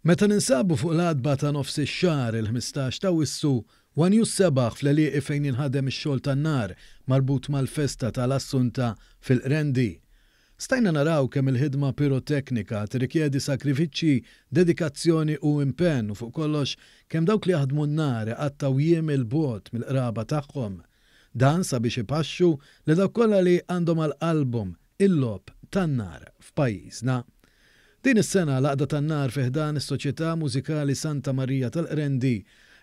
Meta ninsabu fuq l-għatba ta' nofs ix-xahar, il-15 t'Awwissu, one News sebaħ fl-għelieqi fejn jinħadem ix-xogħol tan-nar marbut mal-festa ta' l-Assunta fil-Qrendi. Stajna naraw kemm il-ħidma piroteknika tirrikjedi sagrifiċċji, dedikazzjoni u impenn u fuq kollox kemm dawk li jaħdmu n-nar iqattgħu jiem 'il bogħod mill-qraba tagħhom. Dan sabiex ipaxxu lil dawk kollha li għandhom għal qalbhom il-logħob tan-nar f'pajjiżna. Din is-sena l-Għaqda tan-Nar fi ħdan is-Soċjetà Mużikali Santa Marija tal-Qrendi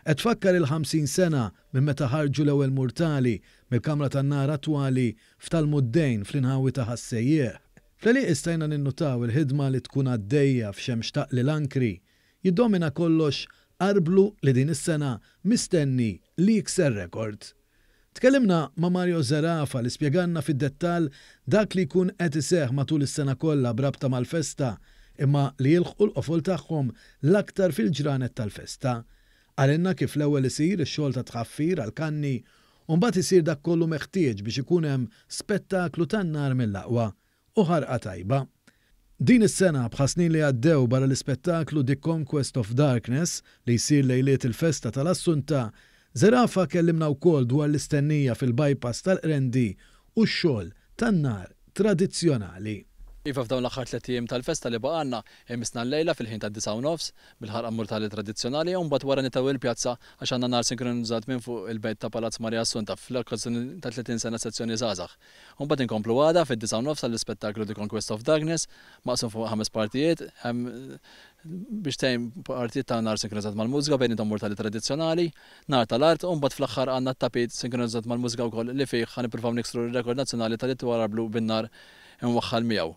qed tfakkar il-50 sena minn meta ħarġu l-ewwel murtali mill-kamra tan-nar attwali f'Tal-Muddejn fl-inħawi ta' Ħas-Sejjieħ. Fl-għelieqi stajna ninnutaw il-ħidma li tkun għaddejja f'xemx taqli l-ankri. Jiddomina kollox arblu li din is-sena mistenni li jikser rekord. Tkellimna ma' Mario Zerafa li spjegalna fid-dettall dak li jkun qed iseħħ matul is-sena kollha b'rabta mal-festa imma li jilħqu l-qofol tagħhom l-aktar fil-ġranet tal-festa. Qalilna kif l-ewwel isir ix-xogħol ta' tħaffir għall-kanni u mbagħad isir dak kollu meħtieġ biex ikun hemm spettaklu tan-nar mill-aqwa u ħarqa tajba. Din is-sena, bħas-snin li għaddew barra l-ispettaklu The Conquest of Darkness li jsir lejliet il-festa tal-Assunta, Zerafa kellimna wkoll dwar l-istennija fil-bypass tal-Qrendi u x-xogħol tan-nar tradizzjonali. Iva f'dawn l-aħħar tlett ijiem tal-festa li baqgħalna, imissna llejla fil-ħin tad-disgħa u nofs, bil-ħarqa murtali tradizzjonali u mbagħad wara nitgħu il-pjazza għax għandna nar sinkronizzat minn fuq il-bejt ta' Palazz Maria Assunta fl-okkażjoni ta' 30 sena Sezzjoni Żgħażagħ. U mbagħad inkomplu għada fid-disgħa u nofs għall-ispettaklu The Conquest of Darkness, maqsum fuq ħames partijiet, hemm biex tgħin partijiet ta' nar sinkronizzat mal-mużika bejniethom murtali tradizzjonali, nar tal-art u mbagħad fl-aħħar għandna t-tapit sinkronizzat mal-mużika wkoll li fih ħa nippruvaw niksru r-rekord nazzjonali tal-itwal arblu bin-nar imwaħħal miegħu.